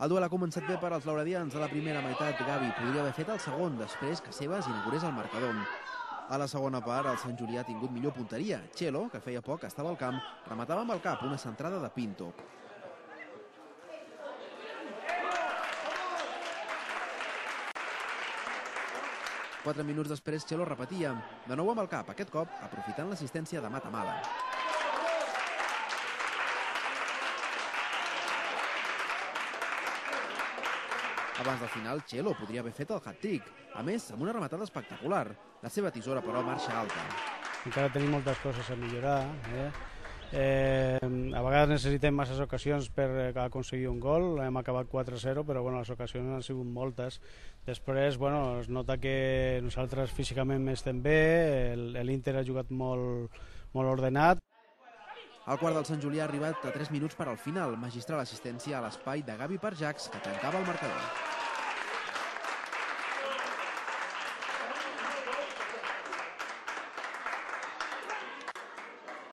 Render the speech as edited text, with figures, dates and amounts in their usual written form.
El duel ha començat bé per als lauredians. A la primera meitat, Gavi podria haver fet el segon, després que Sebas inaugurés el marcador. A la segona part, el Sant Julià ha tingut millor punteria. Chelo, que feia poc estava al camp, rematava amb el cap una centrada de Pinto. Quatre minuts després, Chelo repetia, de nou amb el cap, aquest cop aprofitant l'assistència de Matamala. Abans del final, Chelo podria haver fet el hat-trick, a més, amb una rematada espectacular. La seva tisora, però, marxa alta. Encara tenim moltes coses a millorar. A vegades necessitem masses ocasions per aconseguir un gol. Hem acabat 4-0, però les ocasions han sigut moltes. Després, es nota que nosaltres físicament estem bé, l'Inter ha jugat molt ordenat. El quart del Sant Julià ha arribat a 3 minuts per al final. Magistral assistència a l'espai de Gavi per Jax, que tancava el marcador.